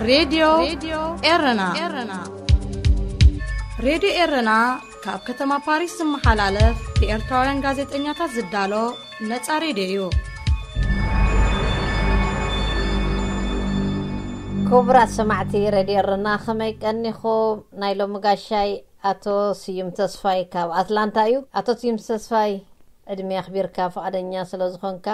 ሬድዮ ኤረና። ሬድዮ ኤረና ካብ ከተማ ፓሪስ ዝመሓላለፍ ብኤርትራውያን ጋዜጠኛታት ዝዳሎ ነጻ ሬድዮ እዩ። ክቡራት ሰማዕቲ ሬድዮ ኤረና፣ ከመይ ቀኒኹም? ናይ ሎሚ ጋሻይ ኣቶ ስዩም ተስፋይ ካብ ኣትላንታ እዩ። ኣቶ ስዩም ተስፋይ፣ ዕድሜ ኣኽቢርካ ፍቓደኛ ስለ ዝኾንካ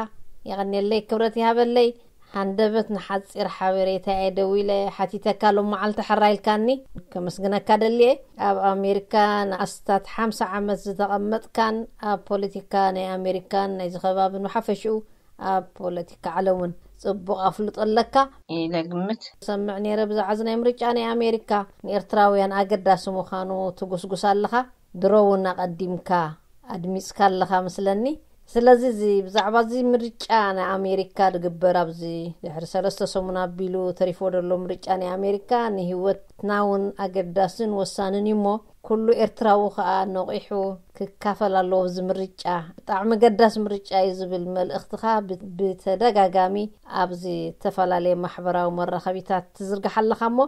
የቐንየለይ፣ ክብረት ይሃበለይ። ሃንደበት ንሓጺር ሓበሬታ እየ ደዊለ ሓቲተካ፣ ሎም መዓልቲ ሕራይ ኢልካኒ፣ ከመስግነካ ደልየ። ኣብ ኣሜሪካ ንኣስታት ሓምሳ ዓመት ዝተቐመጥካን ኣብ ፖለቲካ ናይ ኣሜሪካን ናይዚ ከባብን ብሓፈሽኡ ኣብ ፖለቲካ ዓለም እውን ጽቡቕ ኣፍልጦ ኣለካ። ኢለ ግምት። ሰምዕ ነይረ ብዛዕባ እዚ ናይ ምርጫ ናይ ኣሜሪካ ንኤርትራውያን ኣገዳሲ ምዃኑ ትጉስጉስ ኣለኻ። ድሮ እውን ኣቐዲምካ ኣድሚጽካ ኣለኻ መስለኒ። ስለዚ እዚ ብዛዕባ እዚ ምርጫ ናይ ኣሜሪካ ዝግበር ኣብዚ ድሕሪ ሰለስተ ሰሙን ኣቢሉ ተሪፎ ዘሎ ምርጫ ናይ ኣሜሪካ ንህይወትና እውን ኣገዳስን ወሳንን እዩ እሞ ኩሉ ኤርትራዊ ከኣ ነቒሑ ክካፈል ኣለዎ። እዚ ምርጫ ብጣዕሚ ገዳስ ምርጫ እዩ ዝብል መልእኽትኻ ብ-፣ ብተደጋጋሚ ኣብ ዝተፈላለየ ማሕበራዊ መራኸቢታት ትዝርግሕ ኣለኻ እሞ፣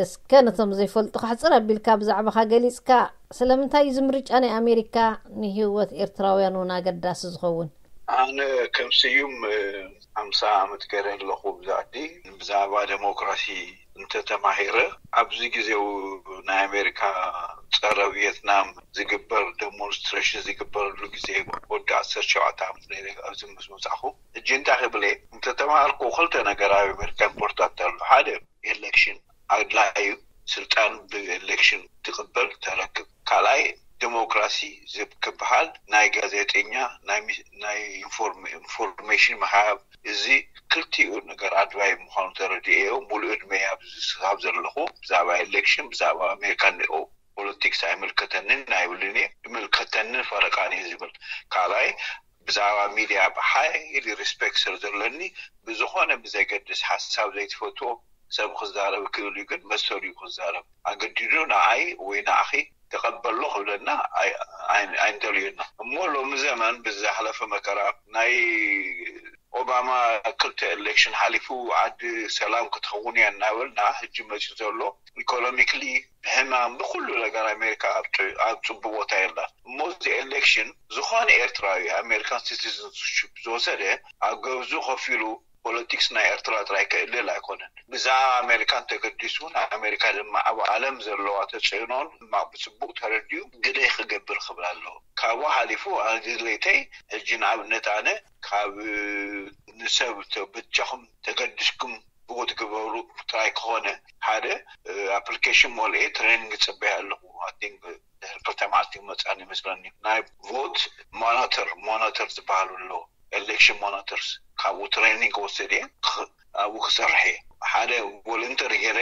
እስከ ነቶም ዘይፈልጡኻ ሕጽር ኣቢልካ ብዛዕባኻ ገሊጽካ፣ ስለምንታይ እዩ እዚ ምርጫ ናይ ኣሜሪካ ንህይወት ኤርትራውያን እውን ኣገዳሲ ዝኸውን? ኣነ ከም ስዩም፣ እ፣ ሓምሳ ዓመት ገይረ ኣለኹ ብዛ ዓዲ። ብዛዕባ ዴሞክራሲ እንተተማሂረ፣ ኣብዚ ግዜው ናይ ኣሜሪካ ጸረ ቪየትናም ዝግበር ደሞንስትሬሽን ዝግበረሉ ግዜ፣ ወዲ ዓሰርተ ሸውዓተ ዓመት ነይረ ኣብዚ ምስ መጻኹ። ሕጂ እንታይ ክብል እየ? እንተተማሃርኩ ክልተ ነገር ኣብ ኣሜሪካ ኢምፖርታንት ኣሎ። ሓደ፣ ኤሌክሽን ኣድላዩ፣ ስልጣን ብኤሌክሽን ትቕበል ተረክብ። ካልኣይ፣ ዴሞክራሲ ዝብ-፣ ክበሃል ናይ ጋዜጠኛ፣ ናይ ሚ-፣ ናይ ኢንፎርም-፣ ኢንፎርሜሽን ምሃብ፣ እዚ ክልቲኡ ነገር ኣድላይ ምዃኑ ተረዲኤዮ። ሙሉእ ዕድመይ ኣብዚ ስጋብ ዘለኹ ብዛዕባ ኤሌክሽን፣ ብዛዕባ ኣሜሪካ እንኦ ፖለቲክስ ኣይምልከተንን ኣይብልን እየ። ይምልከተንን ፈረቃን እየ ዝብል። ካልኣይ፣ ብዛዕባ ሚድያ ብሓይሊ ሪስፔክት ስለ ዘለኒ፣ ብዝኾነ ብዘገድስ ሓሳብ ዘይትፈትዎ ሰብ ክዛረብ ክእል እዩ፣ ግን መሰሉ እዩ ክዛረብ። ኣገዲዱ ንዓይ ወይ ንዓኺ ተቐበሎ ክብለና ኣይ-፣ ኣይ-፣ ኣይንደልዩና። እሞ ሎሚ ዘመን ብዝሓለፈ መከራ ናይ ኦባማ ክልተ ኤሌክሽን ሓሊፉ ዓዲ ሰላም ክትኸውን እያ እናበልና፣ ሕጂ መፂኡ ዘሎ ኢኮኖሚክሊ ብሕማም ብኩሉ ነገር ኣሜሪካ ኣብ ጥ-፣ ኣብ ፅቡቅ ቦታ የላን። እሞ እዚ ኤሌክሽን ዝኾነ ኤርትራዊ ኣሜሪካን ሲቲዝንሽፕ ዝወሰደ ኣብ ገብዙ ከፊሉ ፖለቲክስ ናይ ኤርትራ ጥራይ ከእልል ኣይኮነን። ብዛዕባ ኣሜሪካን ተገዲሱ፣ ንኣሜሪካ ድማ ኣብ ዓለም ዘለዋ ተጽዕኖን ድማ ብጽቡቕ ተረዲኡ ግደይ ክገብር ክብል ኣለዎ። ካብኡ ሓሊፉ ኣነ ድሌተይ ሕጂ ንኣብነት ኣነ ካብ ንሰብ ተ-፣ በጃኹም ተገዲስኩም ብኡ ትግበሩ ጥራይ ክኾነ ሓደ፣ እ፣ ኣፕሊኬሽን ሞልኤ ትሬኒንግ ይጽበያ ኣለኹ። I think ድሕሪ ክልተ መዓልቲ ይመጽኣኒ ይመስለኒ። ናይ ቮት ሞኒተር፣ ሞኒተር ዝበሃሉ ኣለዉ። ኤሌክሽን ሞኒተርስ ካብኡ ትሬኒንግ ወሰደ እየ። ክ-፣ ኣብኡ ክሰርሕ እየ። ሓደ ቮለንተር ገይረ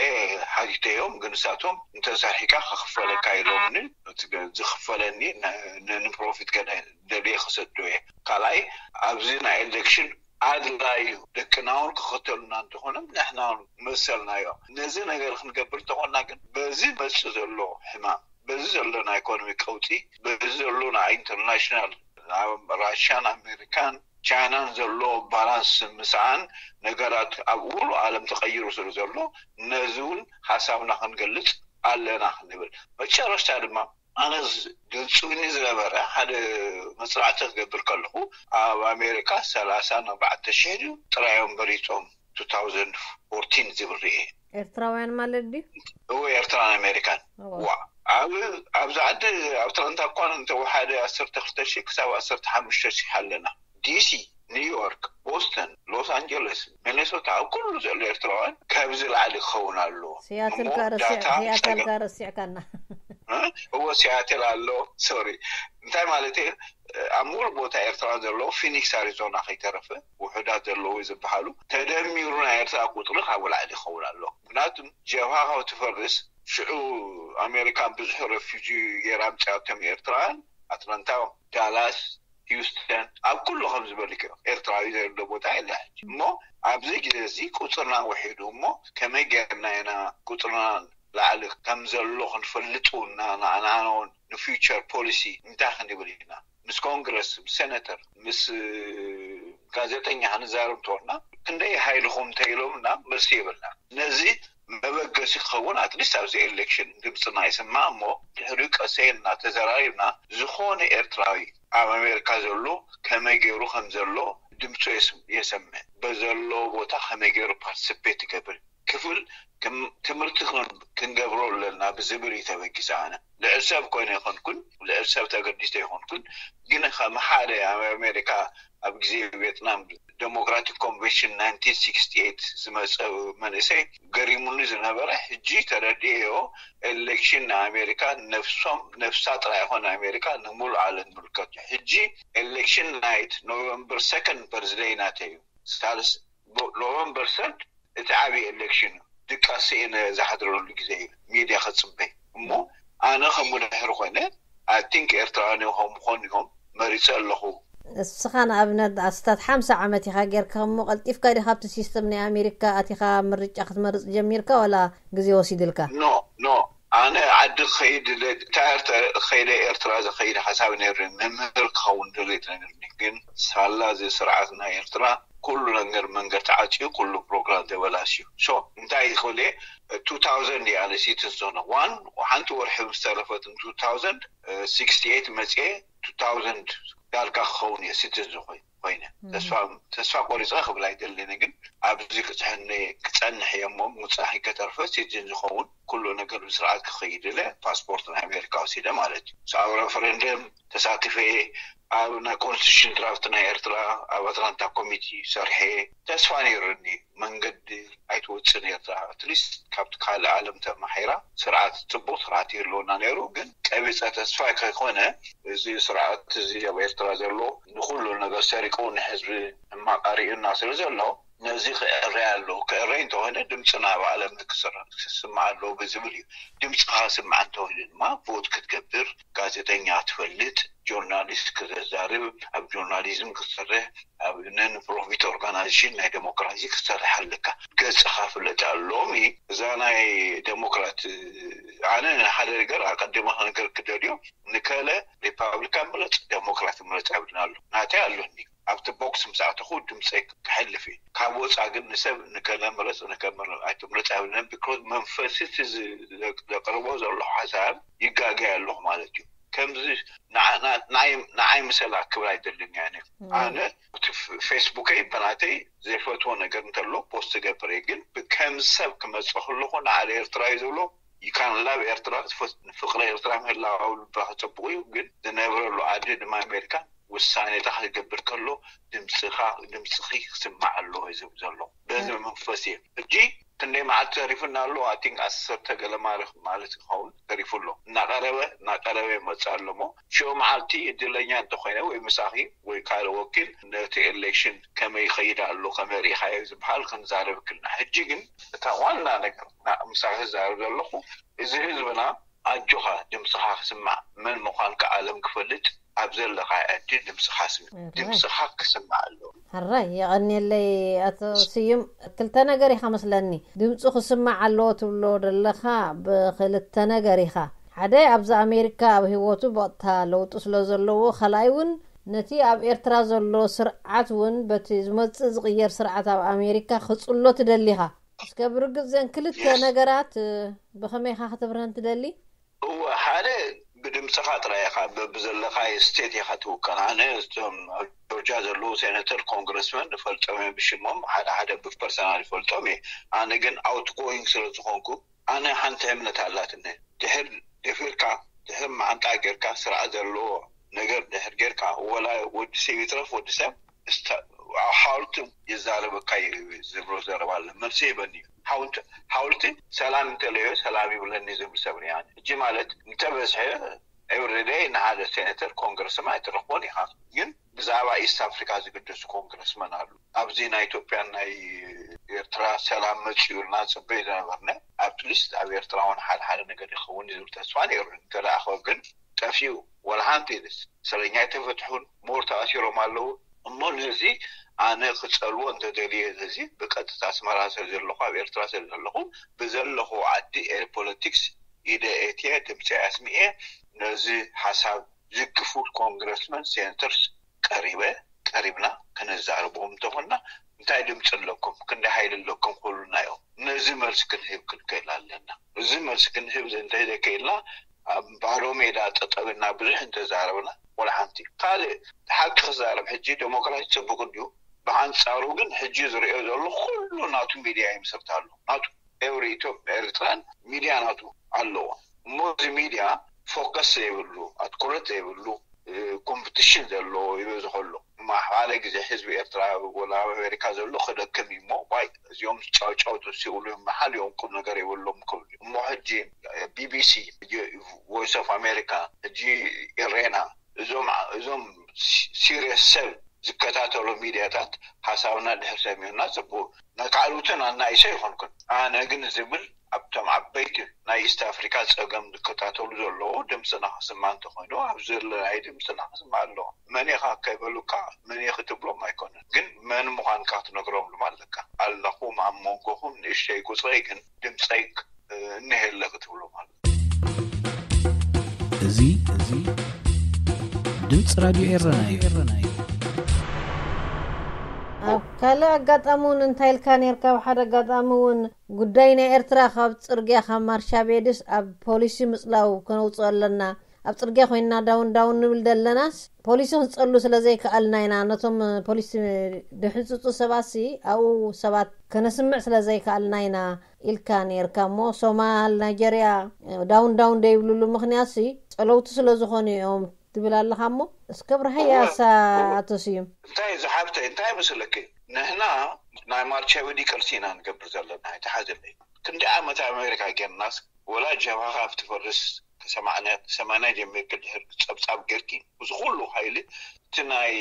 ሓቲተዮም፣ ግን ንሳቶም እንተሰርሒካ ክኽፈለካ ኢሎምኒ። እቲ ገ-፣ ዝኽፈለኒ ን-፣ ን-፣ ንፕሮፊት ገለ ደልየ ክሰዶ እየ። ካልኣይ፣ ኣብዚ ናይ ኤሌክሽን ኣድላዩ ደቅና እውን ክኽተሉና እንተኾነ ንሕና እውን መሰልናዮ። ነዚ ነገር ክንገብር እንተኾንና ግን በዚ መጽእ ዘሎ ሕማም፣ በዚ ዘሎ ናይ ኢኮኖሚ ቀውጢ፣ በዚ ዘሎ ናይ ኢንተርናሽናል ኣብ ራሽያን ኣሜሪካን ቻይናን ዘሎ ባላንስ ምስኣን ነገራት ኣብ ሙሉ ዓለም ተቐይሩ ስለ ዘሎ ነዚ እውን ሓሳብና ክንገልጽ ኣለና ክንብል። መጨረሽታ ድማ ኣነ ዝ-፣ ደንጽውኒ ዝነበረ ሓደ መጽናዕቲ ክገብር ከለኹ ኣብ ኣሜሪካ ሰላሳን ኣርባዕተ ሽሕ ድዩ ጥራዮም መሪጾም ቱ ታውዘንድ ፎርቲን ዝብል ርኤ። ኤርትራውያን ማለት ድዩ? እወ፣ ኤርትራን ኣሜሪካን። እወ። ዋ፣ ኣብ፣ ኣብዚ ዓዲ ኣብ ኣትላንታ እኳ እንተወሓደ ዓሰርተ ክልተ ሽሕ ክሳብ ዓሰርተ ሓሙሽተ ሽሕ ኣለና። ዲሲ፣ ኒውዮርክ፣ ቦስተን፣ ሎስ ኣንጀለስ፣ ሚኔሶታ፣ ኣብ ኩሉ ዘሎ ኤርትራውያን ካብዚ ላዕሊ ክኸውን ኣለዎ። ሲያትል እሞ ካ ረሲዕ-፣ ዳታ ሲያትል ጸገም ካ ረሲዕካና። እ? እወ፣ ሲያትል ኣሎ። ሶሪ። እንታይ ማለት እየ? ኣብ ሙሉእ ቦታ ኤርትራውያን ዘለዎ ፊኒክስ ኣሪዞና ከይተረፈ ውሑዳት ዘለዎ ዝበሃሉ ተደሚሩ ናይ ኤርትራ ቁጽሪ ካብኡ ላዕሊ ይኸውን ኣሎ። ምክንያቱም ጀብሃ ካብ ትፈርስ ሽዑ ኣሜሪካን ብዙሕ ረፊጂ ገይራ ኣምጺኣቶም ኤርትራውያን ኣትላንታ፣ ዳላስ፣ ሂውስተን ኣብ ኩሉ ከም ዝበልክ ኤርትራዊ ዘይብሎ ቦታ የለ ሕጂ። እሞ ኣብዚ ግዜ እዚ ቁጽርና ውሒዱ እሞ ከመይ ጌርና ኢና ቁጽርና ላዕሊ ከም ዘሎ ክንፈልጥ እውን ንዓና እውን ንፊውቸር ፖሊሲ እንታይ ክንብል ኢና ምስ ኮንግረስ ምስ ሴኔተር ምስ ጋዜጠኛ ክንዛረብ እንተኾንና ክንደይ ሓይልኹም እንተኢሎምና መልሲ የብልና። ነዚ መበገሲ ክኸውን ኣትሊስት ኣብዚ ኤሌክሽን ድምፅና ይስማዕ እሞ ድሕሪኡ ቀሰ ኢልና ተዘራሪብና ዝኾነ ኤርትራዊ ኣብ ኣሜሪካ ዘሎ ከመይ ገይሩ ከም ዘሎ ድምፁ የስምዕ በዘሎ ቦታ ከመይ ገይሩ ፓርቲስፔት ይገብር ክፍል ትምህርቲ ክንገብሮ ኣለና ብዝብል እዩ ተበጊሰ ኣነ ልዕል ሰብ ኮይነ ይኮንኩን ልዕል ሰብ ተገዲስተ ይኮንኩን ግን ከም ሓደ ኣብ ኣሜሪካ ኣብ ግዜ ቬትናም ዴሞክራቲክ ኮንቨንሽን ናይንቲን ሲክስቲ ኤይት ዝመፀ መንእሰይ ገሪሙኒ ዝነበረ ሕጂ ተረድኤዮ ኤሌክሽን ናይ ኣሜሪካ ነፍሶም ነፍሳ ጥራይ ይኮን ኣሜሪካ ንሙሉ ዓለም ዝምልከት ሕጂ ኤሌክሽን ናይት ኖቨምበር ሰከንድ በርዝደይ ናተይ እዩ ሳልስ ኖቨምበር ሰርድ እቲ ዓብዪ ኤሌክሽን እዩ ድቃስ እየ ዝሓድረሉ ግዜ እዩ ሚድያ ከፅበይ እሞ ኣነ ከም ውድሕር ኮይነ ኣይ ቲንክ ኤርትራውያን እዮም ከም ምኾኑ እዮም መሪፀ ኣለኹ እስኻ ንኣብነት ኣስታት ሓምሳ ዓመት ኢኻ ጌርካ እሞ ቀልጢፍካ ዲኻ ኣብቲ ሲስተም ናይ ኣሜሪካ ኣቲኻ ምርጫ ክትመርፅ ጀሚርካ ወላ ግዜ ወሲድልካ ኖ ኖ ኣነ ዓዲ ክኸይድ ድለ ታርተ ከይደ ኤርትራ ዝኸይድ ሓሳብ ነይሩ መምህር ክኸውን ድሌት ነይሩኒ ግን ሳላ እዚ ስርዓት ናይ ኤርትራ ኩሉ ነገር መንገድ ተዓፅዩ ኩሉ ፕሮግራም ተበላሽዩ ሶ እንታይ ክብል ቱ ታውዘንድ እያ ሲቲዝን ዝኾነ ዋን ሓንቲ ወርሒ ምስ ተረፈት ቱ ታውዘንድ ሲክስቲ ኤይት መፅኤ ቱ ታውዘንድ ዳርጋ ክኸውን እየ ሲቲዝን ዝኾይ ኮይነ ተስፋ ቆሪፀ ክብል ኣይደልን ግን ኣብዚ ክፅሕኒ ክፀንሕ እየ እሞ ምውፃእ ከተርፈ ሲቲዝን ዝኸውን ኩሉ ነገር ብስርዓት ክኸይድ ኢለ ፓስፖርት ናይ ኣሜሪካ ወሲደ ማለት እዩ ኣብ ሬፈረንደም ተሳቲፈ ኣብ ናይ ኮንስቲቱሽን ድራፍት ናይ ኤርትራ ኣብ ኣትላንታ ኮሚቲ ሰርሐ ተስፋ ነይሩኒ መንገዲ ኣይትወፅን ኤርትራ ኣትሊስት ካብቲ ካልእ ዓለም ተማሒራ ስርዓት ፅቡቅ ስርዓት ይህልወና ነይሩ ግን ቀቢፀ ተስፋ ከይኮነ እዚ ስርዓት እዚ ኣብ ኤርትራ ዘሎ ንኩሉ ነገር ሰሪቁ ንህዝቢ ሕማቅ ኣርእዩና ስለ ዘሎ ነዚ ክእረይ ኣለዎ ክእረይ እንተኾነ ድምፅና ኣብ ዓለም ክስማዕ ኣለዎ ብዝብል እዩ ድምፅኻ ስማዕ እንተኾይኑ ድማ ቮት ክትገብር ጋዜጠኛ ትፈልጥ ጆርናሊስት ክተዛርብ ኣብ ጆርናሊዝም ክሰርሕ ኣብ ነን ፕሮፊት ኦርጋናይዜሽን ናይ ዴሞክራሲ ክሰርሕ ኣለካ ገፅኻ ፍለጥ ኣሎ ሎሚ እዛ ናይ ዴሞክራት ኣነ ሓደ ነገር ኣቀዲመ ክነገር ክደልዮ ንከለ ሪፓብሊካን ምረፅ ዴሞክራት ምረፅ ኣብልና ኣሎ ናተይ ኣሎኒ ኣብቲ ቦክስ ምስ ኣተኹ ድምፀይ ክሕልፍ እዩ ካብ ወፃ ግን ንሰብ ንከለ ምረፅ ንከምር ኣይትምረፅ ኣይብለን ቢኮዝ መንፈስ እቲ ዘቅርቦ ዘለኹ ሓሳብ ይጋገይ ኣለኹ ማለት እዩ ከምዚ ንዓይ ምሰላ ክብል ኣይደልን እያ ኣነ እቲ ፌስቡከይ ብናተይ ዘይፈትዎ ነገር እንተሎ ፖስት ገብር እየ ግን ከም ሰብ ክመፅእ ከለኹ ንዓደ ኤርትራ እዩ ዝብሎ ይካንላ ኣብ ኤርትራ ፍቅሪ ኤርትራ ምህላው ልብኻ ፅቡቅ እዩ ግን ዝነብረሉ ዓዲ ድማ ኣሜሪካ ውሳኔታ ክገብር ከሎ ድምፅኻ ድምፅኺ ክስማዕ ኣለዎ እዩ ዝብል ዘሎ በዚ መንፈስ እየ ሕጂ ክንደይ መዓልቲ ተሪፉና ኣሎ ኣይ ቲንክ ዓሰርተ ገለ ማርክ ማለት ይኸውን ተሪፉ ኣሎ እናቀረበ እናቀረበ ይመፅእ ኣሎ ሞ ሽዑ መዓልቲ እድለኛ እንተኮይነ ወይ ምሳኺ ወይ ካልእ ወኪል ነቲ ኤሌክሽን ከመይ ይኸይድ ኣሎ ከመይ ርኢኻዮ ዝበሃል ክንዛረብ ክልና ሕጂ ግን እታ ዋና ነገር ምሳኺ ዝዛረብ ዘለኹ እዚ ህዝብና ኣጆኻ ድምፅኻ ክስማዕ መን ምዃንካ ዓለም ክፈልጥ ኣብ ዘለኻ ዕድል ድምፅኻ ስምዕ ድምፅኻ ክስማዕ ኣለዎ ሕራይ የቐንየለይ ኣቶ ስዩም ክልተ ነገር ኢኻ መስለኒ ድምፁ ክስማዕ ኣለዎ ትብሎ ዘለኻ ብክልተ ነገር ኢኻ ሓደ ኣብዚ ኣሜሪካ ኣብ ህይወቱ ብቕጥታ ለውጢ ስለ ዘለዎ ካልኣይ እውን ነቲ ኣብ ኤርትራ ዘሎ ስርዓት እውን በቲ ዝመፅእ ዝቕየር ስርዓት ኣብ ኣሜሪካ ክፅሎ ትደሊኻ እስከ ብርግፅ ዘን ክልተ ነገራት ብኸመይኻ ክትብርሀን ትደሊ እወ ሓደ ብድምፅኻ ጥራይ ኢኻ በብዘለኻዮ ስቴት ኢኻ ትውከል ኣነ እቶም ኣብ ጆርጃ ዘለዉ ሴነተር ኮንግረስመን ንፈልጦም እዮም ብሽሞም ሓደ ሓደ ብፐርሰናል ይፈልጦም እየ ኣነ ግን ኣውት ጎይንግ ስለ ዝኾንኩ ኣነ ሓንቲ እምነት ኣላትኒ ድሕር ደፊርካ ድሕር መዓንጣ ጌርካ ስርዓት ዘለዎ ነገር ድሕር ጌርካ ወላ ወዲ ሰብ ይትረፍ ወዲ ሰብ ሓውልቲ ይዛረበካ ዝብሎ ዘረባ ኣሎ መልሲ ይበኒ ሓውልቲ ሰላም እንተለዮ ሰላም ይብለኒ ዝብል ሰብ ያ እጂ ማለት እንተበዝሐ ኤብሪደይ ንሓደ ሴነተር ኮንግረስም ኣይትረክቦን ኢኻ ግን ብዛዕባ ኢስት ኣፍሪካ ዝግደሱ ኮንግረስመን ኣሉ ኣብዚ ናይ ኢትዮጵያን ናይ ኤርትራ ሰላም መፅኡ ኢልና ፅበይ ዝነበርነ ኣብትሊስት ኣብ ኤርትራ እውን ሓደ ሓደ ነገር ይኸውን ዝብል ተስፋ ነይሩ እንተደኣኸ ግን ጠፊኡ ወላ ሓንቲ ኢልስ እስረኛ ኣይተፈትሑን ሞር ተኣሲሮም ኣለዉ እሞ ነዚ ኣነ ክፀልዎ እንተደልየ ነዚ ብቀጥታ ኣስመራ ስለ ዘለኹ ኣብ ኤርትራ ስለ ዘለኹ ብዘለኹ ዓዲ ፖለቲክስ ኢደ ኤትየ ድምፂ ኣስሚኤ ነዚ ሓሳብ ዝግፉ ኮንግረስመን ሴነተርስ ቀሪበ ቀሪብና ከነዛርቦም እንተኾንና እንታይ ድምፂ ኣለኩም ክንደይ ሓይሊ ኣለኩም ክብሉና እዮም ነዚ መልሲ ክንህብ ክንክእል ኣለና። እዚ መልሲ ክንህብ እንተዘይክእልና ኣብ ባዶ ሜዳ ጠጠው ኢልና ብዙሕ እንተዛረብና ወላ ሓንቲ። ካልእ ሓቂ ክዛረብ፣ ሕጂ ዴሞክራሲ ጽቡቕ እንድዩ። ብኣንጻሩ ግን ሕጂ ዝርእዮ ዘሎ ኩሉ ናቱ ሚድያ ይምስርት ኣሎ። ናቱ ኤውሪ ኢትዮጵያ ኤርትራን ሚድያ ናቱ ኣለዎ። እሞ እዚ ሚድያ ፎከስ ዘይብሉ፣ ኣትኩረት ዘይብሉ፣ ኮምፕቲሽን ዘለዎ ይበዝሖ ኣሎ። እማ ሓደ ግዜ ህዝቢ ኤርትራ ወላ ኣብ ኣሜሪካ ዘሎ ክደክም እዩ እሞ፣ ዋይ እዚኦም ጫውጫው ተሲኡሉ እዮም፣ መሓል እዮም፣ ቁም ነገር የብሎም ክብሉ። እሞ ሕጂ ቢቢሲ፣ ቮይስ ኦፍ ኣሜሪካ፣ ሕጂ ኤሬና፣ እዞም እዞም ሲሪየስ ሰብ ዝከታተሉ ሚድያታት ሓሳብና ድሕር ሰሚዑና ጽቡቅ፣ ነካዕሉትን ኣናይሰ ይኾንኩን። ኣነ ግን ዝብል ኣብቶም ዓበይቲ ናይ ኢስት ኣፍሪካ ጸገም ዝከታተሉ ዘለዉ ድምፅና ክስማ እንተኾይኑ፣ ኣብ ዘለናይ ድምፅና ክስማ ኣለዎ። መን ኢኻ ከይበሉካ መን ኢኺ ትብሎም ኣይኮነን፣ ግን መን ምዃንካ ክትነግሮም ድማ ኣለካ። ኣለኹም ኣብ መንጎኹም ንእሽተይ ቁፅረይ፣ ግን ድምፀይ እኒሀ ኣለኺ ትብሎም ኣሎ። እዚ እዚ ድምፂ ራድዮ ኤረና እዩ። ኣብ ካልእ ኣጋጣሚ እውን እንታይ ኢልካ ነርካ? ኣብ ሓደ ኣጋጣሚ እውን ጉዳይ ናይ ኤርትራ ካብ ፅርግያ ካብ ማርሻቤድስ ኣብ ፖሊሲ ምፅላው ከነውፅኦ ኣለና። ኣብ ፅርግያ ኮይንና ዳውን ዳውን ንብል ደለናስ ፖሊሲ ክንፀሉ ስለ ዘይከኣልና ኢና። ነቶም ፖሊሲ ድሕንፅፁ ሰባት ሲ ኣብኡ ሰባት ከነስምዕ ስለ ዘይከኣልና ኢና ኢልካ ነርካ። እሞ ሶማል፣ ናይጀርያ ዳውን ዳውን ደይብልሉ ምክንያት ሲ ፀለውቲ ስለ ዝኾኑ እዮም ትብል ኣለኻ። እሞ እስከ ብርሃያ እሳ ኣቶ ስዩም እንታይ ዝሓብተ እንታይ መስለኪ? ንሕና ናይ ማርቻ ወዲ ቅርሲ ኢና ንገብር ዘለና። ኣይተሓዘለይ ክንዲ ዓመት ኣሜሪካ ጌርናስ ወላ ጀብሃኻ ኣብቲ ፈርስ ሰማንያ ጀሚርክ ድሕር ጸብጻብ ጌርኪ እዚ ኩሉ ሓይሊ እቲ ናይ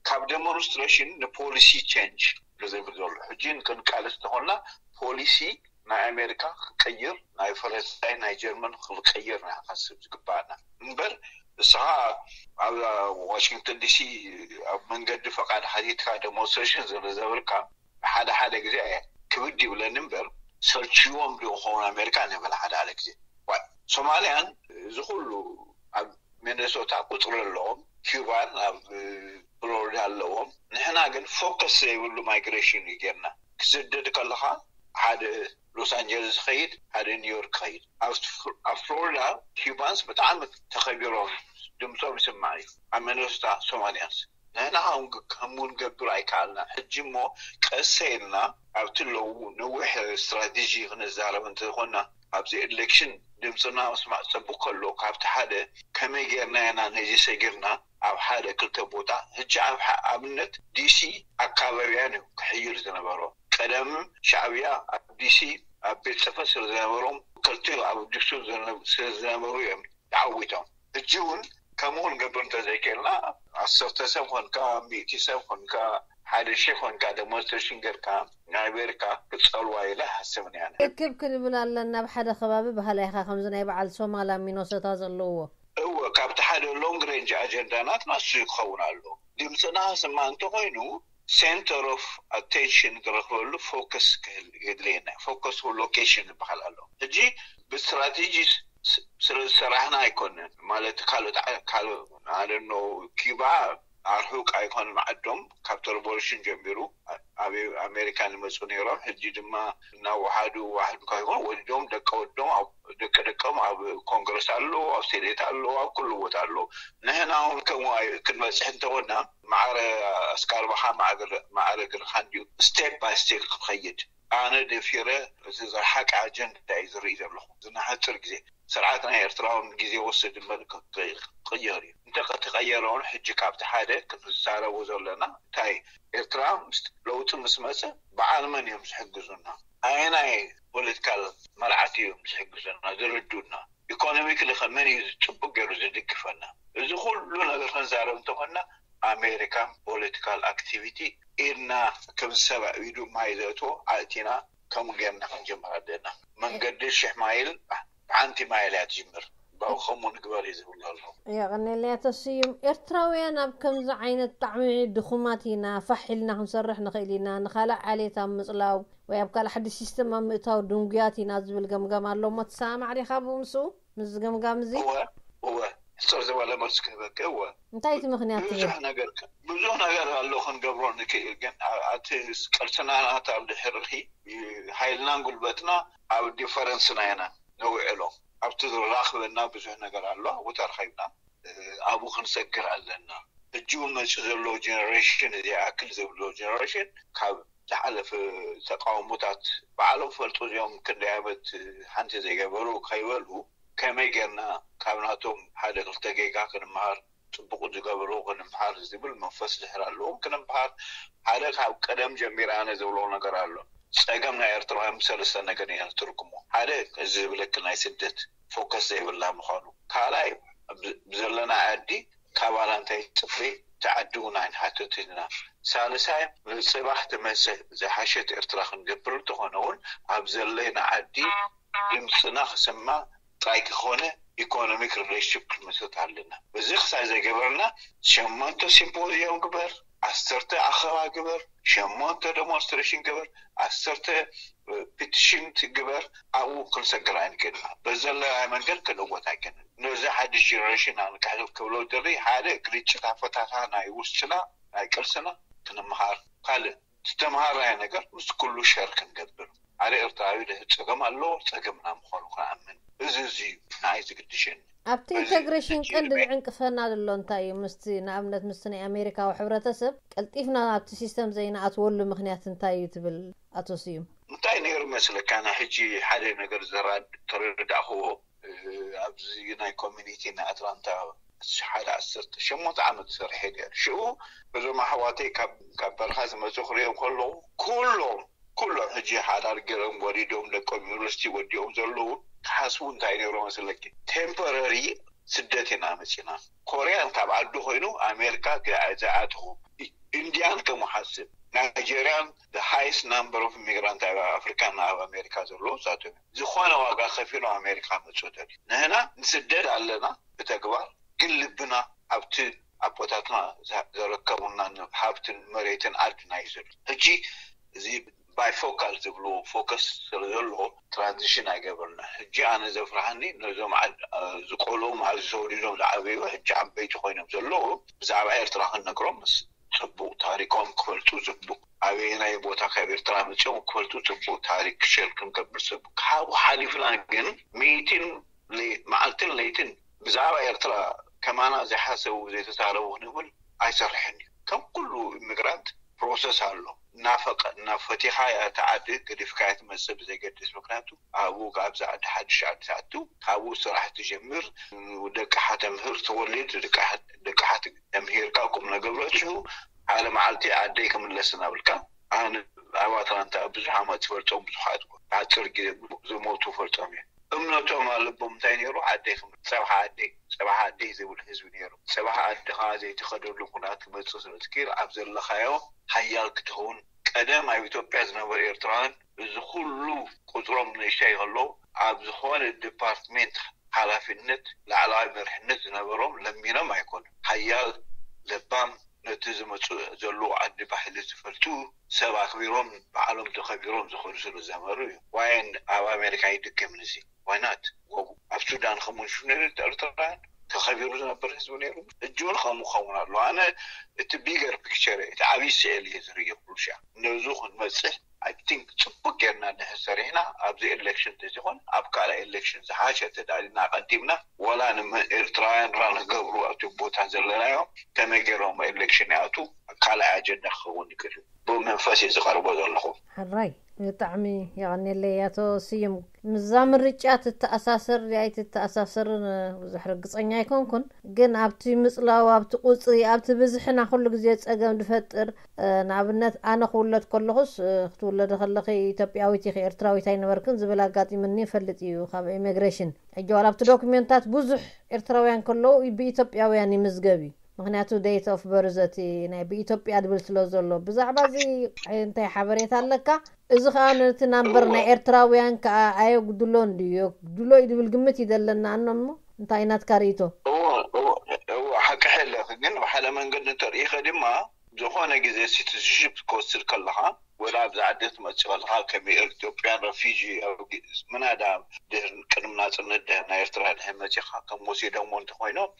ካብ ደሞንስትሬሽን ንፖሊሲ ቸንጅ ዝብል ዘሎ ሕጂ ክንቃለስ ተኾና ፖሊሲ ናይ ኣሜሪካ ክቀይር ናይ ፈረንሳይ ናይ ጀርመን ክቀይር ናይ ሓስብ ዝግባኣና እምበር እስኻ ኣብ ዋሽንግተን ዲሲ ኣብ መንገዲ ፈቃድ ሓቲትካ ደሞንስትሬሽን ዝብል ዘብልካ ሓደ ሓደ ግዜ ክብድ ይብለኒ እምበር ሰልችዎም ዶ ክኸውን ኣሜሪካ ንብል ሓደ ሓደ ግዜ ሶማልያን እዚ ኩሉ ኣብ ሚነሶታ ቁፅሪ ኣለዎም ኪባን ኣብ ፍሎሪዳ ኣለዎም ንሕና ግን ፎከስ ዘይብሉ ማይግሬሽን እዩ ጌርና ክስደድ ከለካ ሓደ ሎስ ኣንጀለስ ይኸይድ ሓደ ኒውዮርክ ይኸይድ ኣብ ፍሎሪዳ ኪባንስ ብጣዕሚ ተኸቢሮም ድምፆም ይስማዕ እዩ ኣብ ሚነሶታ ሶማልያንስ ንሕና ከምኡ ንገብር ኣይከኣልና ሕጂ እሞ ቀሰ ኢልና ኣብቲ ለዉ ነዊሕ ስትራቴጂ ክንዛረብ እንተኮና ኣብዚ ኤሌክሽን ድምፅና ምስማዕ ፅቡቅ ከሎ ካብቲ ሓደ ከመይ ጌርና ኢና ነዚ ሰጊርና ኣብ ሓደ ክልተ ቦታ ሕጂ ኣብ ኣብነት ዲሲ ኣካባቢያን እዩ ክሕይል ዝነበሮ ቀደም ሻዕብያ ኣብ ዲሲ ኣብ ቤት ፅፈት ስለ ዝነበሮም ከልቲኡ ኣብ ዲሱ ስለዝነበሩ እዮም ተዓዊቶም ሕጂ እውን ከምኡ ንገብር እንተዘይክእልና ዓሰርተ ሰብ ኮንካ ሚእቲ ሰብ ኮንካ ሓደ ሺህ ኮንካ ደሞንስትሬሽን ጌርካ ናይ ኣሜሪካ ክፀልዋ ኢለ ኣይሓስብን እያ ርክብ ክንብል ኣለና ኣብ ሓደ ከባቢ ባህላ ኢኻ ከምዚ ናይ በዓል ሶማል ኣብ ሚኖሶታ ዘለዎ እወ ካብቲ ሓደ ሎንግ ሬንጅ ኣጀንዳ ናትና እሱ ክኸውን ኣሎ ድምፅና ክስማ እንተኮይኑ center of attention ዝረክበሉ ፎከስ ክህል የድልየና እዩ ፎከስ ሎኬሽን ዝበሃል ኣሎ ሕጂ ብስትራቴጂ ስለ ዝሰራሕና ኣይኮነን ማለት ካልኦት ካልኦ ኣደኖ ኪባ ኣርሑቅ ኣይኮነን ዓዶም ካብቲ ሬቮሉሽን ጀሚሩ ኣብ ኣሜሪካ ንመፁ ነይሮም ሕጂ ድማ እናወሓዱ ዋሕዱ ካብ ይኮን ወሊዶም ደቂ ወዶም ደቂ ደቆም ኣብ ኮንግረስ ኣሎ ኣብ ሴኔት ኣሎ ኣብ ኩሉ ቦታ ኣሎ ንሕና እውን ከምኡ ክንበፅሕ እንተኮና ማዕረ እስካርባኻ ማዕረ ግርኻ እንድዩ step by step ክኸይድ ኣነ ደፊረ እቲ ዝረሓቀ ኣጀንዳ እዩ ዝርኢ ዘለኹ ዝናሕፅር ግዜ ስርዓት ናይ ኤርትራ እውን ግዜ ወስድ እምበር ክቅየር እዩ እንተ ተቀየረ እውን ሕጂ ካብቲ ሓደ ክንዛረቦ ዘለና እንታይ ኤርትራ ለውጢ ምስ መፀ በዓል መን እዮም ዝሕግዙና ኣየናይ ፖለቲካል መርዓት እዮም ዝሕግዙና ዝርዱና ኢኮኖሚክሊ ከ መን እዩ ፅቡቅ ገይሩ ዝድግፈና እዚ ኩሉ ነገር ክንዛረብ እንተኮንና ኣሜሪካን ፖለቲካል ኣክቲቪቲ ኢድና ከም ዝሰብዕ ኢዱ ማይ ዘእትዎ ኣእቲና ከምኡ ጌርና ክንጅምር ኣለና መንገዲ ሽሕ ማይል ብሓንቲ ማይል እያ ትጅምር ባው ከምኡ ንግበር እዩ ዝብሉ ኣለዉ የቐኔለያ ተስዩም ኤርትራውያን ኣብ ከምዚ ዓይነት ብጣዕሚ ድኹማት ኢና ፋሕ ኢልና ክንሰርሕ ንኽእል ኢና ንኻልእ ዓሌት ኣብ ምፅላው ወይ ኣብ ካልእ ሓድሽ ሲስተም ኣብ ምእታው ድንጉያት ኢና ዝብል ገምጋም ኣሎ እሞ ትሰማማዕ ዲኻ ብኡ ምስኡ ምስዚ ገምጋም እዚ እወ እወ ሕፅር ዝበለ መልሲ ክህበካ እወ። እንታይ እቲ ምኽንያት ትብል? ብዙሕ ነገር ብዙሕ ነገር ኣሎ ክንገብሮ ንክእል፣ ግን ኣቲ ቀልስና ናታ ድሕርኺ ሓይልናን ጉልበትና ኣብ ዲፈረንስና ኢና ነውዕሎ። ኣብቲ ዝራኽበና ብዙሕ ነገር ኣሎ፣ ኣብኡ ተረኺብና ኣብኡ ክንሰግር ኣለና። ሕጂ እውን መፂኡ ዘሎ ጀነሬሽን፣ እዚ ይኣክል ዝብሎ ጀነሬሽን ካብ ዝሓለፈ ተቃውሞታት ባዕሎም ፈልጡ እዚኦም ክንደይ ዓመት ሓንቲ ዘይገበሩ ከይበሉ ከመይ ጌርና ካብ ናቶም ሓደ ክልተ ጌጋ ክንምሃር፣ ፅቡቅ ዝገብሩ ክንምሃር ዝብል መንፈስ ድሕር ኣለዎም ክንምሃር። ሓደ ካብ ቀደም ጀሚረ ኣነ ዝብሎ ነገር ኣሎ። ፀገም ናይ ኤርትራውያን ብሰለስተ ነገር ኢና ንትርጉሞ። ሓደ እዚ ዝብለክ ናይ ስደት ፎከስ ዘይብላ ምዃኑ፣ ካልኣይ ብዘለና ዓዲ ካባና እንታይ ትፅበይ፣ እቲ ዓዲ እውን ኣይንሓትት ኢና። ሳልሳይ ንፅባሕ ትመፅእ ዝሓሸት ኤርትራ ክንገብር እንተኾነ እውን ኣብ ዘለና ዓዲ ድምፅና ክስማ ጥራይ ክኾነ ኢኮኖሚክ ሪሌሽንሽፕ ክንምስርት ኣለና። እዚ ክሳብ ዘይገበርና ሸሞንተ ሲምፖዚየም ግበር፣ ዓሰርተ ኣኸባ ግበር፣ ሸሞንተ ዴሞንስትሬሽን ግበር፣ ዓሰርተ ፒቲሽን ትግበር፣ ኣብኡ ክንሰግር ኣይንክእልና። በዘለናይ መንገድ ክንእወት ኣይክእልን። ነዚ ሓድሽ ጀነሬሽን ኣንቃሕቶ ክብሎ ደሊ ሓደ ግርጭት ኣፈታታ ናይ ውስጥና ናይ ቅልስና ክንምሃር፣ ካልእ ዝተምሃርናዮ ነገር ምስ ኩሉ ሸር ክንገብር። ሓደ ኤርትራዊ ድሕር ፀገም ኣለዎ፣ ፀገምና ምዃኑ ክኣምን። እዚ እዚ እዩ ንዓይ ዝግድሸኒ። ኣብቲ ኢንተግሬሽን ቀንዲ ዝዕንቅፈና ዘሎ እንታይ እዩ? ምስቲ ንኣብነት ምስቲ ናይ ኣሜሪካዊ ሕብረተሰብ ቀልጢፍና ኣብቲ ሲስተም ዘይንኣትወሉ ምክንያት እንታይ እዩ ትብል ኣቶ ስዩም? እንታይ ነይሩ መስለካ፣ ናይ ሕጂ ሓደ ነገር ዘራድ ተረዳእኽዎ። ኣብዚ ናይ ኮሚኒቲ ናይ ኣትላንታ ሓደ ዓሰርተ ሸሞንተ ዓመት ዝሰርሐ ነይሩ። ሽኡ እዞም ኣሕዋተይ ካብ በረኻ ዝመፁ ክሪኦም ከለዉ ኩሎም ኩሎም ሕጂ ሓዳር ገይሮም ወሊዶም ደቆም ዩኒቨርሲቲ ወዲኦም ዘለዉ ክሓስቡ እንታይ ነይሮ መስለኪ? ቴምፖረሪ ስደት ኢና መፂና። ኮርያን ካብ ዓዱ ኮይኑ ኣሜሪካ ዝኣትኹ፣ ኢንዲያን ከምኡ ሓስብ፣ ናይጀርያን ሃይስት ናምበር ኦፍ ኢሚግራንት ኣብ ኣፍሪካ ኣብ ኣሜሪካ ዘለዉ ንሳቶም እዮም። ዝኾነ ዋጋ ከፊሎም ኣሜሪካ መፁ ደልዩ። ንህና ንስደድ ኣለና ብተግባር፣ ግን ልብና ኣብቲ ኣቦታትና ዘረከቡና ሃብትን መሬትን ዓድና እዩ ዘሎ። ሕጂ እዚ ባይፎካል ዝብልዎ ፎከስ ስለ ዘለዎ ትራንዚሽን ኣይገበርና። ሕጂ ኣነ ዘፍርሃኒ ነዞም ዝቆልኦም ኣብዚ ተወሊዶም ዝዓበዩ ሕጂ ዓበይቲ ኮይኖም ዘለዉ ብዛዕባ ኤርትራ ክንነግሮም ምስ ፅቡቅ ታሪኮም ክፈልጡ ፅቡቅ ኣበየናይ ቦታ ካብ ኤርትራ መፅኦም ክፈልጡ ፅቡቅ ታሪክ ሸር ክንገብር ፅቡቅ ካብኡ ሓሊፍና ግን ሚእትን መዓልትን ለይትን ብዛዕባ ኤርትራ ከማና ዘይሓሰቡ ዘይተዛረቡ ክንብል ኣይሰርሕን እዩ። ከም ኩሉ ኢሚግራንት ፕሮሰስ ኣሎ። እናፈቀ እናፈቲኻ እያ እታ ዓዲ ገዲፍካ እያ ትመፅእ ብዘይገድስ። ምክንያቱ ኣብኡ ኣብዚ ዓዲ ሓድሽ ዓዲ ትኣቱ፣ ካብኡ ስራሕ ትጀምር፣ ደቅሓ ተምህር፣ ትወልድ፣ ደቅሓ ተምሂርካ ቁም ነገር በፂሑ ሓደ መዓልቲ ዓደይ ክምለስ እናብልካ ኣነ ኣብ ኣትላንታ ብዙሕ ዓመት ዝፈልጦም ብዙሓት ብሓፂር ግዜ ዝሞቱ ፈልጦም እዮም። እምነቶም ኣለቦም እንታይ ነይሩ? ዓደይ ክም- ፀባሕ ዓደይ፣ ፀባሕ ዓደይ ዝብል ህዝቢ ነይሩ። ፀባሕ ዓድኻ ዘይትኸደሉ ኩነታት ክመፅእ ስለ ትክእል ኣብ ዘለኻዮ ሓያል ክትኸውን። ቀደም ኣብ ኢትዮጵያ ዝነበሩ ኤርትራውያን እዚ ኩሉ ቁፅሮም ንእሽተይ ከለዉ ኣብ ዝኾነ ዲፓርትሜንት ሓላፊነት ላዕለዋይ መርሕነት ዝነበሮም ለሚኖም ኣይኮኑን። ሓያል ለባም ነቲ ዝመፅእ ዘለዉ ዓዲ ባህሊ ዝፈልጡ ሰብ ኣክቢሮም ባዕሎም ተኸቢሮም ዝኸዱ ስለ ዝነበሩ እዩ። ዋይን ኣብ ኣሜሪካ ይድገም ንዚ ዋይናት ኣብ ሱዳን ከምኡ ንሹ ነይሩ ኤርትራውያን ተኸቢሩ ዝነበር ህዝቢ ነይሩ። እጅውን ከምኡ ክኸውን ኣሎ። ኣነ እቲ ቢገር ፒክቸር እቲ ዓብይ ስዕል እየ ዝርየ ኩሉ ሻዕ ነዙ ክንመፅእ ኣይ ቲንክ ፅቡቅ ጌርና እንድሕር ሰሪሕና ኣብዚ ኤሌክሽን ተዚኮን ኣብ ካልኣይ ኤሌክሽን ዝሓሸ ተዳሊና ኣቀዲምና ወላ ንኤርትራውያን ራ ንገብሩ ኣብቲ ቦታ ዘለናዮ ከመይ ገይሮም ኤሌክሽን ይኣቱ ካልኣይ ኣጀንዳ ክኸውን ይክእል እዩ። ብመንፈስ እዩ ዝቀርቦ ዘለኹ። ሕራይ ብጣዕሚ የቐኔለይ ኣቶ ስዩም። ምዛ ምርጫ ትተኣሳሰር ድያ ኣይትተኣሳሰርን ብዙሕ ርግፀኛ ኣይኮንኩን፣ ግን ኣብቲ ምፅላው ኣብቲ ቁፅሪ ኣብቲ ብዝሕና ኩሉ ግዜ ፀገም ዝፈጥር ንኣብነት ኣነ ክውለድ ከለኹስ ክትውለደ ከለኺ ኢትዮጵያዊት ኢኺ ኤርትራዊት ኣይነበርክን ዝብል ኣጋጢምኒ ይፈልጥ እዩ ካብ ኢሚግሬሽን። ሕጂ ዋላ ኣብቲ ዶክሜንታት ብዙሕ ኤርትራውያን ከለዉ ብኢትዮጵያውያን ይምዝገብ እዩ። ምክንያቱ date of birth እቲ ናይ ብኢትዮጵያ ድብል ስለ ዘሎ። ብዛዕባ እዚ እንታይ ሓበሬታ ኣለካ? እዚ ከዓ ነቲ ናምበር ናይ ኤርትራውያን ከዓ ኣየጉድሎን ድዩ? የጉድሎ እዩ ድብል ግምት እዩ ዘለና። ኣኖ እሞ እንታይ ናትካ ርእይቶ? እዎ፣ እዎ፣ እዎ፣ ሓቂ ኣለኺ። ግን ብሓደ መንገዲ እንተርኢኸ ድማ ዝኾነ ግዜ ሲቲዝንሽፕ ክወስድ ከለኻ ወላ ኣብዚ ዓዲ ክትመጽእ ከለኻ ከም ኢትዮጵያን ረፊጂ ምናዳ ድሕር ቅድሚ ናጽነት ድሕር ናይ ኤርትራ ድሕር መጺኻ ከም ወሲዶሞ እንተኾይኖም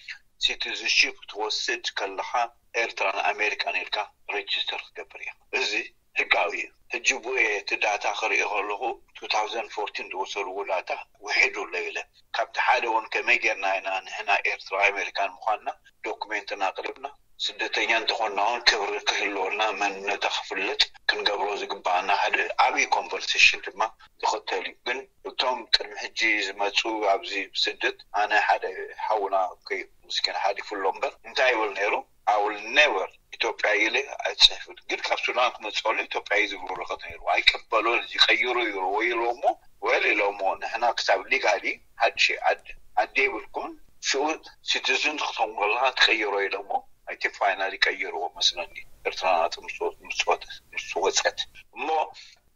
ሲቲዝንሺፕ ክትወስድ ከለኻ ኤርትራን ኣሜሪካን ኢልካ ሬጅስተር ክትገብር እያ። እዚ ህጋዊ እዩ። ሕጂ ብኡ እቲ ዳታ ክርኢ ከለኹ two thousand fourteen ዝወሰድዎ ዳታ ውሒዱ ኣሎ ኢለ ካብቲ ሓደ እውን ከመይ ጌርና ኢና ንሕና ኤርትራ ኣሜሪካን ምዃንና ዶክሜንትና ኣቕሪብና ስደተኛ እንተኾንና እውን ክብሪ ክህልወና መንነታ ክፍለጥ ክንገብሮ ዝግባኣና ሓደ ዓብዪ ኮንቨርሴሽን ድማ ዝኽተል እዩ። ግን እቶም ቅድሚ ሕጂ ዝመፁ ኣብዚ ብስደት ኣነ ሓደ ሓውና ኮይ ምስኪን ሓሊፉ ኣሎ እምበር እንታይ ይብል ነይሩ? I will never ኢትዮጵያ ኢለ ኣይፅሕፍን። ግን ካብ ሱዳን ክመፅእ ከሎ ኢትዮጵያ እዩ ዝብል ወረቐት ነይሩ። ኣይቀበሎን እዚ ቀይሩ ይሩ ወይ ኢሎሞ ወል ኢሎሞ ንሕና ክሳብ ሊጋሊ ሓድሽ ዓዲ ዓዲ የብልኩን ሽኡ ሲቲዝን ክትኸውን ከለካ ትቀይሮ ኢሎሞ። ኣይ ቲንክ ፋይናሊ ቀይርዎ መስለኒ። ኤርትራ ናጽ ምስ ወ- ምስ ወጥ- ምስ ወጸት እሞ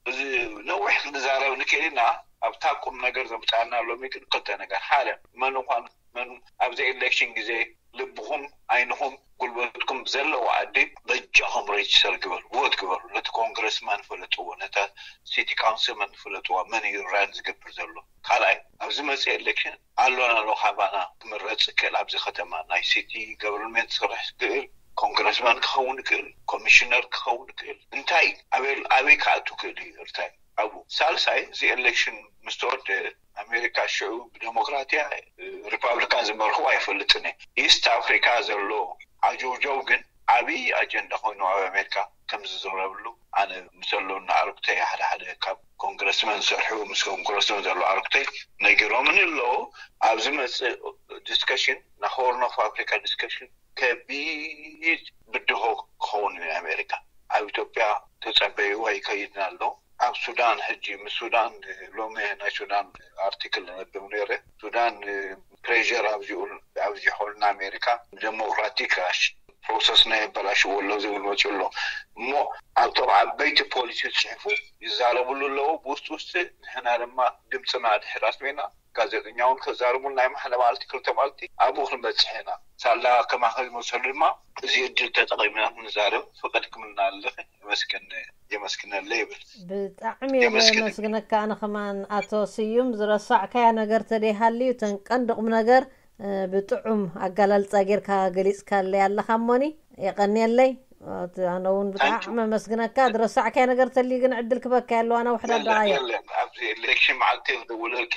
እዚ ነዊሕ ክንዛረብ ንክእል ኢና። ኣብታ ቁም ነገር ዘምጻና ሎሚ ግን ክልተ ነገር ሓደ መን ኳን መን ኣብዚ ኤሌክሽን ግዜ ልብኹም ዓይንኹም ጉልበትኩም ዘለዎ ዓዲ በጃኹም ሬጅስተር ግበሩ፣ ቮት ግበሩ። ነቲ ኮንግረስማን ፍለጥዎ፣ ነታ ሲቲ ካውንስልማን ፍለጥዋ፣ መን እዩ ራን ዝገብር ዘሎ። ካልኣይ ኣብዚ መፅእ ኤሌክሽን ኣሎና ኣሎ ካባና ክምረፅ ይክእል ኣብዚ ከተማ ናይ ሲቲ ገቨርንመንት ክሰርሕ ዝክእል ኮንግረስማን ክኸውን ይክእል ኮሚሽነር ክኸውን ይክእል እንታይ ኣበይ ኣበይ ክኣቱ ክእል እዩ እንታይ ኣብኡ ሳልሳይ እዚ ኤሌክሽን ምስ ተወደ ኣሜሪካ ሽዑ ብደሞክራትያ ሪፓብሊካን ዝመርኽዎ ኣይፈልጥን እየ ኢስት ኣፍሪካ ዘሎ ዓጀውጀው ግን ዓብዪ ኣጀንዳ ኮይኑ ኣብ ኣሜሪካ ከም ዝዝረብሉ ኣነ ምስ ኣለዉ ኣዕሩክተይ ሓደ ሓደ ካብ ኮንግረስመን ዝሰርሑ ምስ ኮንግረስመን ዘለዉ ኣዕሩክተይ ነጊሮምኒ ኣለዉ ኣብዚ መፅእ ዲስከሽን ናይ ሆርን ኦፍ ኣፍሪካ ዲስከሽን ከቢድ ብድሆ ክኸውን እዩ ኣሜሪካ ኣብ ኢትዮጵያ ተፀበይዋ ይከይድና ኣሎ ኣብ ሱዳን ሕጂ ምስ ሱዳን ሎሚ ናይ ሱዳን ኣርቲክል ነብብ ነይረ ሱዳን ፕሬር ኣብዚሑልና ኣሜሪካ ዴሞክራቲክ ፕሮሰስና የበላሽዎ ኣሎ ዝብል መፅኡ ኣሎ እሞ ኣብቶም ዓበይቲ ፖሊሲ ዝፅሕፉ ይዛረብሉ ኣለዉ ብውስጢ ውስጢ ንሕና ድማ ድምፅና ድሕር ኣስሜና ጋዜጠኛ እውን ከዛርቡልና ይማሓለ ማለቲ ክልተ ማለቲ ኣብኡ ክንበፅሕ ኢና ሳላ ከማኸ ዝመሰሉ ድማ እዚ እድል ተጠቒምና ክንዛረብ ፍቐድ ክምልና ኣለኺ የመስግን የመስግነለ ይብል ብጣዕሚ እየ የመስግን። ዘመስግነካ ኣነ ከማን ኣቶ ስዩም ዝረሳዕካያ ነገር ተደይሃልዩ ተን ቀንዲ ቁም ነገር ብጥዑም ኣጋላልፃ ጌርካ ገሊፅካለይ ኣለካ እሞኒ የቀንየለይ ኣነ እውን ብጣዕሚ ኣመስግነካ ዝረሳዕካያ ነገር ተልዩ ግን ዕድል ክበካ ኣለዋ ነውሕዳ ደዓያ ኣብዚ ኤሌክሽን መዓልቲ ክደውለልክ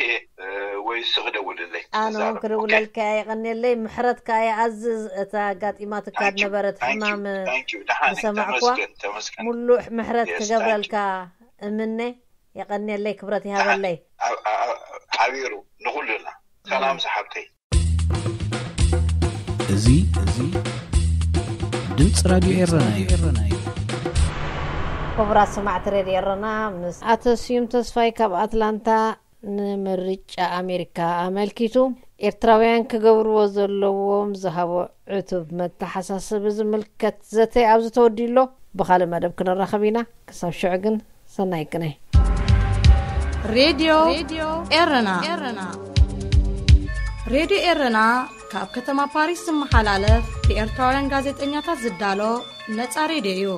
ወይ ስ ክደውልለይ ኣነ እውን ክድውለልካ የቀንየለይ ምሕረት ከኣ ይኣዝዝ እታ ኣጋጢማትካ ዝነበረት ሕማም ዝሰማዕኩዋ ሙሉእ ምሕረት ክገብረልካ እምነ የቀንየለይ ክብረት ይሃበለይ ሓቢሩ ንኩሉና ሰላም ዝሓብተይ እዚ እዚ ድምፂ ራድዮ ኤረና እዩ። ክቡራት ሰማዕቲ ሬድዮ ኤረና ምስ ኣቶ ስዩም ተስፋይ ካብ ኣትላንታ ንምርጫ ኣሜሪካ ኣመልኪቱ ኤርትራውያን ክገብርዎ ዘለዎም ዝሃቦ ዕቱብ መተሓሳስቢ ዝምልከት ዘተ ኣብዚ ተወዲኡ ኣሎ። ብኻልእ መደብ ክንራኸብ ኢና። ክሳብ ሽዑ ግን ሰናይ ቅነ። ሬድዮ ኤረና ሬድዮ ኤረና ካብ ከተማ ፓሪስ ዝመሓላለፍ ብኤርትራውያን ጋዜጠኛታት ዝዳሎ ነጻ ሬድዮ እዩ።